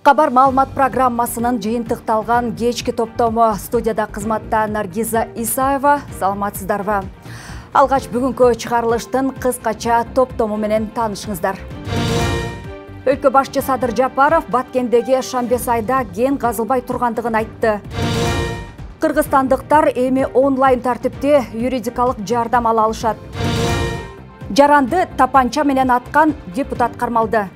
Кабар маалымат программасынын жыйынтыкталган кечки топтому. Студияда кызматта Наргиза Исаева. Саламатсыздарбы? Алгач бүгүнкү чыгарылыштын кыскача топтому менен таанышыңыздар. Өлкө башчы Садыр Жапаров Баткендеги Шамбесайда кен казылбай тургандыгын айтты. Кыргызстандыктар эми онлайн тартипте юридикалык жардам ала алышат. Жаранды тапанча менен аткан депутат кармалды.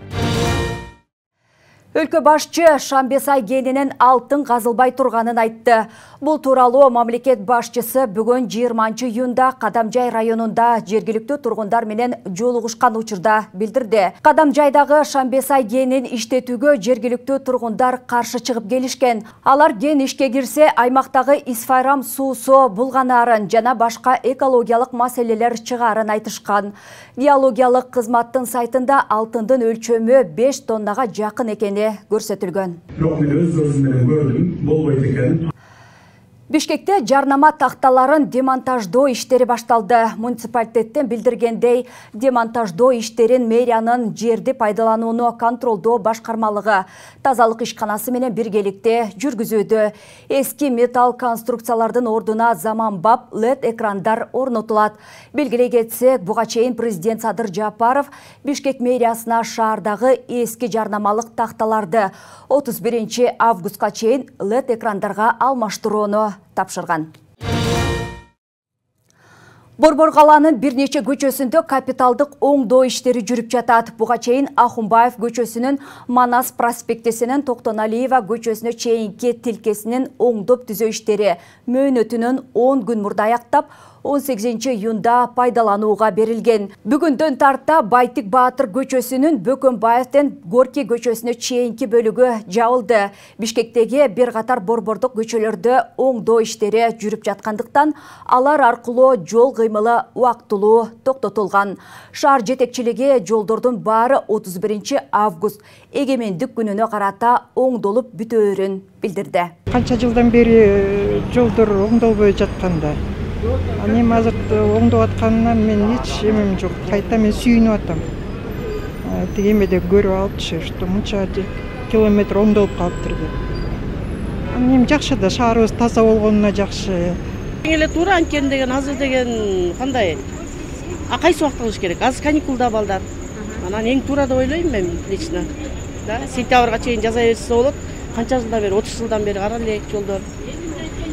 Өлкө башчы Шамбесай кенинин алтын казылбай турганын айтты. Бул тууралуу мамлекет башчысы бүгүн 20-июнда Кадамжай районунда жергиликтүү тургундар менен жолугушкан учурда билдирди. Кадамжайдагы Шамбесай кенин иштетүүгө жергиликтүү тургундар каршы чыгып келишкен. Алар кен ишке кирсе аймактагы исфайрам суусу булганаарын жана башка экологиялык маселелер чыгаарын айтышкан. Геологиялык кызматтын сайтында алтындын өлчөмү 5 тоннага жакын экени көрсөтүлгөн. Бишкекте жарнама такталарын демонтаждоо иштери башталды. Муниципалитеттен билдиргендей, демонтаждоо иштерин мэриянын жерди пайдаланууну контролдоо башкармалыгы тазалык ишканасы менен биргеликте жүргүзүүдө. Эски металл конструкциялардын ордуна заманбап LED экрандар орнотулат. Белгилей кетсек, буга чейин президент Садыр Жапаров Бишкек мэриясына шаардагы эски жарнамалык такталарды 31 августка чейин LED экрандарга алмаштырууну тапшырган. Борбор калаанын бир нече көчөсүндө капиталдык оңдоо иштери жүрүп жатат. Буга чейин Ахунбаев көчөсүнүн Манас проспектисинин Токтоналиева көчөсүнө чейинки тилкесинин оңдоп түзөө иштери мөөнөтүнөн 10 күн мурда аяктап 18-июнда пайдаланууга берилген. Бүгүндөн тарта Байтик Баатыр көчөсүнүн Бөкөнбаевден Горький көчөсүнө чейинки бөлүгү жабылды. Бишкектеги бир катар борбордук көчөлөрдө оңдоо иштери жүрүп жаткандыктан алар аркылуу жол кыймылы убактылуу токтотулган. Шаар жетекчилиги жолдордун баары 31 август эгемендик күнүнө карата оңдолуп бүтөөрүн билдирди. Канча жылдан бери жолдор оңдолбой жатканда Анем азыр оңдоп атканынан мен эч эмем жок. Кайта мен сүйүнүп атам. Тегемеде көрүп алыпчы, что мынча километр оңдолуп калыптыр деп. Анем жакшы да, шаарыбыз таза болгонуна жакшы. Эле туура анткени деген азыр деген кандай? Кайсы убакта кылыш керек? Азыр каникулда балдар. Анан эң туура деп ойлойм мен лично. Да, сентябрга чейин жаза берсе болот. Канча жылдан бери, 30 жылдан бери кара элек жолдор.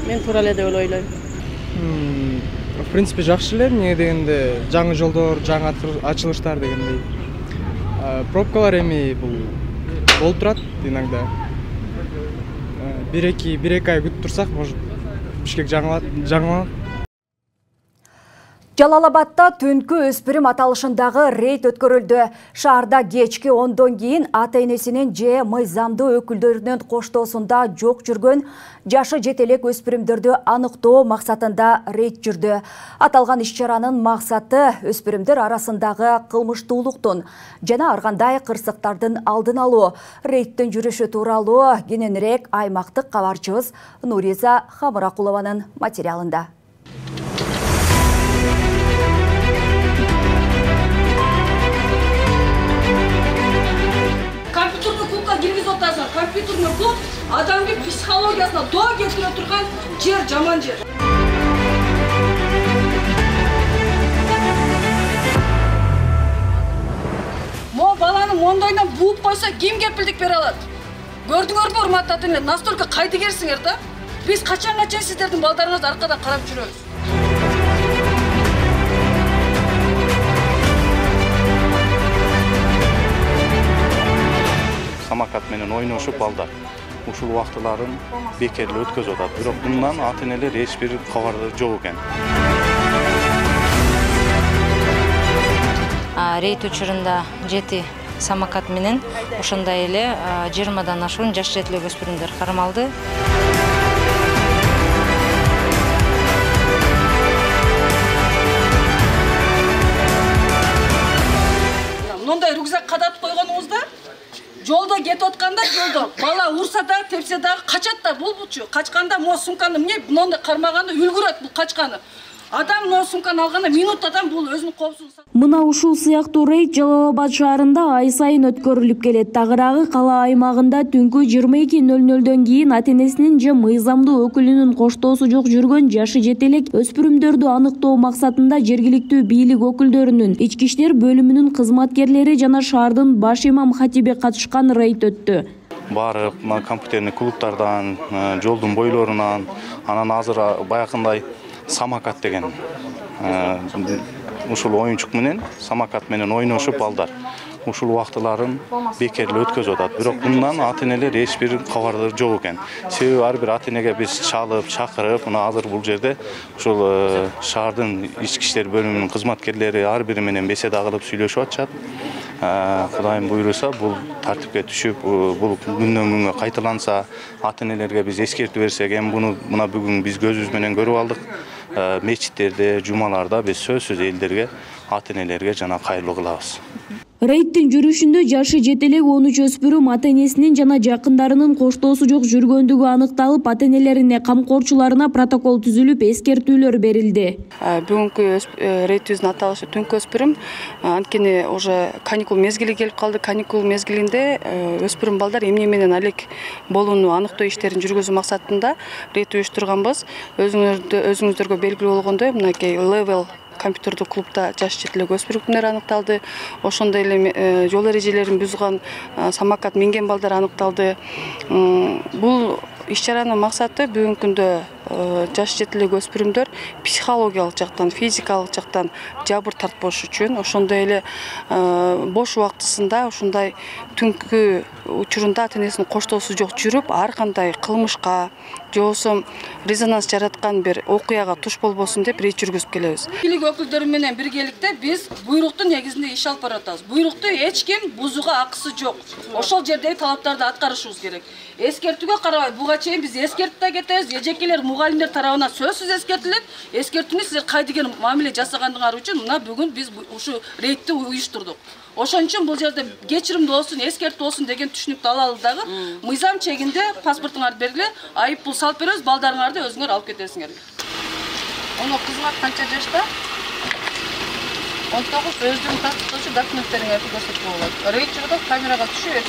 Мен туура эле деп ойлойм. В принципе, жакшы эле, эмне дегенде жаңы жолдор, жаңы ачылыштар дегендей. Пробкалар эми бул болуп турат иногда. Бир-эки ай күтүп турсак, может, Бишкек жаңыланат. Жалал-Абадта түнкү өспүрүм аталышындагы рейд өткөрүлдү. Шаарда кечки 10дон кийин ата-энесинин же мыйзамдуу өкүлдөрүнүн коштоосунда жок жүргөн жашы жетелек өспүрүмдөрдү аныктоо максатында рейд жүрдү. Аталган иш-чаранын максаты өспүрүмдөр арасындагы кылмыштуулуктун жана ар кандай кырсыктардын алдын алуу. Рейдтин жүрүшү тууралуу кененирээк аймактык кабарчыбыз Нуриза Хамыракулованын материалында. Компьютерный клуб адамдын психологиясына доо келтире турган жер жаман жер. Мо баланы мондойдон бууп койсо ким кепилдик бере алат? Көрдүңөрбү, урматтуу ата-энелер, настолько кайдыгерсиңер да? Биз качанга чейин сиздердин балдарыңызды аркадан карап жүрөбүз? Самокат менен ойношуп балдар ушул убактыларын бекерлеп өткөзүп атат. Бирок мындан ата-энелер эч бир кабардар жок экен. Рейд учурунда 7 самокат менен ошондой эле 20дан ашуун жаш жетелек өспүрүмдөр кармалды. Мындай рюкзак кадатып койгонуңузда жолдо кетип атканда жолдо бала урса да, тепсе да, качат да, булчу. Качканда мо сумканы эмне мындай кармаганда үлгүрөт бул качканы. Адам сумканы алганда минуттадан бул өзүнүн коопсуздугун. Мына ушул сыяктуу рейд Жалал Абад шаарында ай сайын өткөрүлүп келет. Тагыраагы кала аймагында түнкү 22:00дөн кийин ата-энесинин же мыйзамдуу өкүлүнүн коштоосу жок жүргөн жашы жетелек өспүрүмдөрдү аныктоо максатында жергиликтүү бийлик өкүлдөрүнүн, ички иштер бөлүмүнүн кызматкерлери жана шаардын баш имам хатиби катышкан рейд өттү. Барып, компьютерный клубтардан, жолдун бойлорунан, анан азыр баягындай самокат деген ушул оюнчук менен, самокат менен ойношуп балдар ушул убактыларын бекерлүү өткөзүп атат. Бирок мындан ата-энелер эч бир кабардар жок экен. Себеби ар бир ата-энеге биз чалып, чакырып, мына азыр бул жерде ушул шаардын ички иштер бөлүмүнүн кызматкерлери ар бири менен беседа кылып сүйлөшүп атышат. Кудайым буйруса, бул тартипке түшүп, бул күндөн күнгө кайталанса, ата-энелерге биз эскертүү берсек, эми мына бүгүн биз көзүбүз менен көрүп алдык. Мечиттерде, жумаларда биз сөзсүз элдерге, ата-энелерге жана кайрылуу кылабыз. Рейдтин жүрүшүндө жашы жетелек 13 өспүрүм ата-энесинин жана жакындарынын коштоосу жок жүргөндүгү аныкталып, ата-энелерине, камкорчуларына протокол түзүлүп, эскертүүлөр берилди. Бүгүнкү рейдибиздин аталышы түнкү өспүрүм. Анткени уже каникул мезгили келип калды. Каникул мезгилинде өспүрүм балдар эмне менен алек болууну аныктоо иштерин жүргүзүү максатында рейд уюштурганбыз. Өзүңүздөргө белгилүү болгондой, мынакей Level компьютердик клубда жаш жетелек өспүрүмдөр аныкталды. Ошондой эле жол эрежелерин бузган самокат минген балдар аныкталды. Бул иш-чаранын максаты бүгүнкү күндө жаш жетелек өспүрүмдөр психологиялык жактан, физикалык жактан жабыр тартпош үчүн, ошондой эле бош убактысында ушундай түнкү учурунда ата-энесинин коштоосу жок жүрүп, ар кандай кылмышка же болбосо резонанс жараткан бир окуяга туш болбосун деп рейд жүргүзүп келебиз. Бийлик өкүлдөрү менен биргеликте биз буйруктун негизинде иш алып баратабыз. Буйрукту эч ким бузууга акысы жок. Ошол жердеги талаптарды аткарышыбыз керек. Эскертүүгө карабай буга чейин биз эскертип да кетебиз. Эжекелер, мугалимдер тарабынан сөзсүз эскертилет. Эскертүүнү силер кайдыгер мамиле жасагандыгыңар үчүн мына бүгүн биз ушу рейдти уюштурдук. Ошон үчүн бул жерде кечиримдүү болсун, эскертүү болсун деген түшүнүктү алалы дагы мыйзам чегинде паспортуңарды бергиле, айып пул салып беребиз, балдарыңарды өзүңөр алып кетесиңер. Ону кызыңар канча жашта? 19 өздүгүн тастыктоочу документтериңерди көрсөтүп болот. Рейд жүрүп камерага түшүп,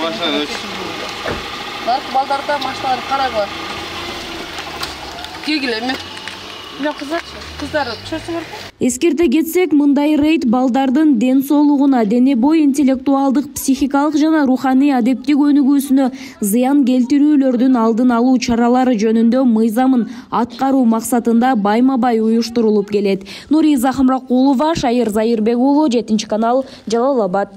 наркы балдарда машиналарды карагыла. Кегиле эми. Мен кыздар чөйсүңөрбү? Эскерте кетсек, мындай рейд балдардын ден соолугуна, дене бой интеллектуалдык, психикалык жана руханий адептик өнүгүүсүнө зыян келтирүүлөрдүн алдын алуу чаралары жөнүндө мыйзамын аткаруу максатында байма-бай уюштурулуп келет. Нури Захымракулова, Шайыр Зайырбек уулу, 7-канал, Жалал Абад.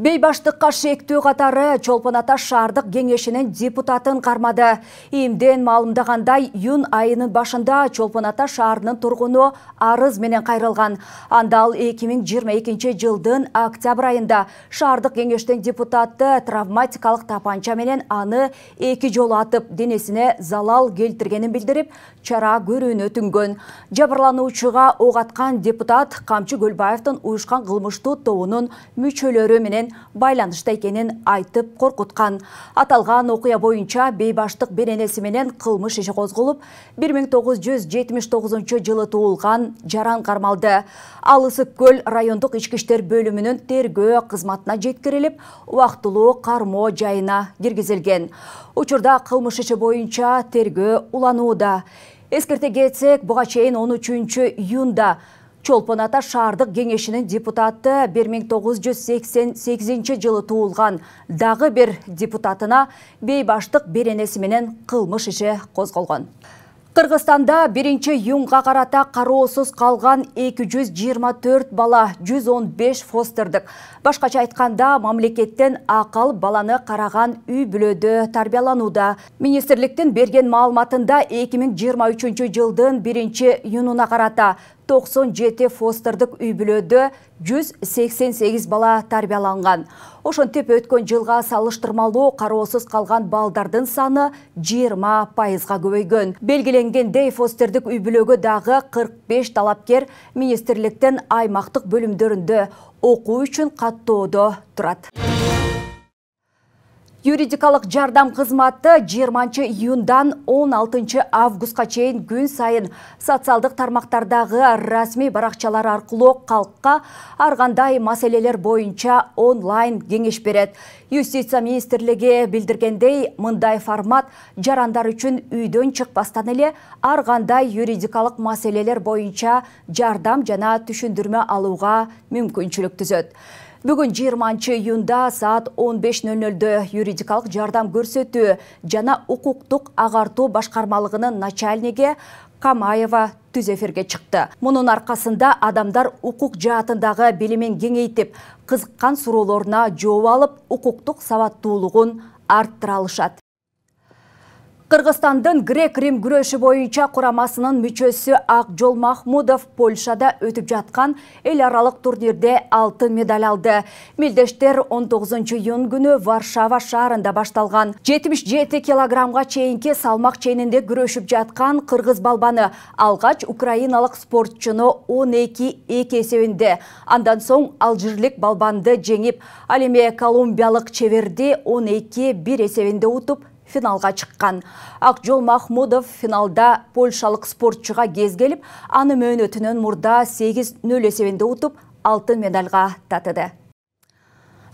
Бейбаштыкка шектүү катары Чолпон Ата шаардык кеңешинин депутатын кармады. Ийимден маалымдагандай, июнь айынын башында Чолпон Ата шаарынын тургуну арыз менен кайрылган. Анда ал 2022 жылдын октябрь айында шаардык кеңештин депутаты травматикалык тапанча менен аны 2 жолу атып, денесине залал келтиргенин билдирип, чара көрүүнү өтүнгөн. Жабырлануучуга ок аткан депутат Камчы Көлбаевдин уюшкан кылмыштуу тобунун мүчөлөрү менен байланышта экенин айтып коркуткан. Аталган окуя боюнча бейбаштык беренеси менен кылмыш иши козголуп, 1979 жылы туулган жаран кармалды. Ал Ысык Көл райондук ички иштер бөлүмүнүн тергөө кызматына жеткирилип, убактылуу кармоо жайына киргизилген. Учурда кылмыш иши боюнча тергөө уланууда. Эскерте кетсек, буга чейин 13 июнда Чолпон Ата шаардык кеңешинин депутаты 1988 жылы туулган дагы бир депутатына бейбаштык беренеси менен кылмыш иши козголгон. Кыргызстанда 1-июнга карата кароосуз калган 224 бала, 115 фостердик. Башкача айтканда, мамлекеттен акыл баланы караган үй бүлөдө тарбияланууда. Министрликтин берген маалыматында 2023 жылдын 1-июнуна карата 97 фостердик үй бүлөдө 188 бала тарбияланган. Ошентип өткөн жылга салыштырмалуу кароосуз калган балдардын саны 20%га көбөйгөн. Белгиленгендей, фостердик үй бүлөгө дагы 45 талапкер министрликтин аймактык бөлүмдөрүндө окуу үчүн каттоодо турат. Юридикалык жардам кызматы 20 июндан 16 августка чейин күн сайын социалдык тармактардагы расмий баракчалар аркылуу калкка ар кандай маселелер боюнча онлайн кеңеш берет. Юстиция министрлиги билдиргендей, мындай формат жарандар үчүн үйдөн чыкпастан эле ар кандай юридикалык маселелер боюнча жардам жана түшүндүрмө алууга мүмкүнчүлүк түзөт. Бүгүн 20 июнда саат 15:00 юридикалык жардам көрсөтүү жана укуктук агартуу башкармалыгынын начальниги Камаева түз эфирге чыкты. Мунун аркасында адамдар укук жаатындагы билимин кеңейтип, кызыккан суроолоруна жооп алып, укуктук сабаттуулугун арттыра алышат. Кыргызстандын грек-рим күрөшү боюнча курамасынын мүчөсү Акжол Махмудов Польшада өтүп жаткан эл аралык турнирде алтын медаль алды. Мелдештер 19 июнь күнү Варшава шаарында башталган 77 килограммга чейинки салмак ченинде күрөшүп жаткан кыргыз балбаны алгач украиналык спортчуну 12-2 эсебинде, андан соң алжирлик балбанды жеңип, ал эми колумбиялык чеберди 12-1 эсебинде утуп финалга чыккан. Акжол Махмудов финалда польшалык спортчуга кез келип, аны мөөнөтүнөн мурда 8-0 эсебинде утуп, алтын медальга татыды.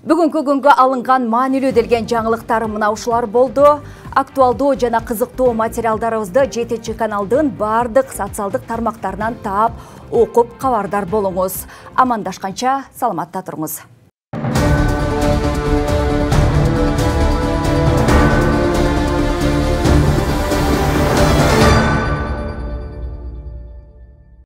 Бүгүнкү күнгө алынган маанилүү делген жаңылыктар мына ушулар болду. Актуалдуу жана кызыктуу материалдарыбызды 7-каналдын бардык социалдык тармактарынан таап, окуп кабардар болуңуз. Амандашканча саламатта туруңуз.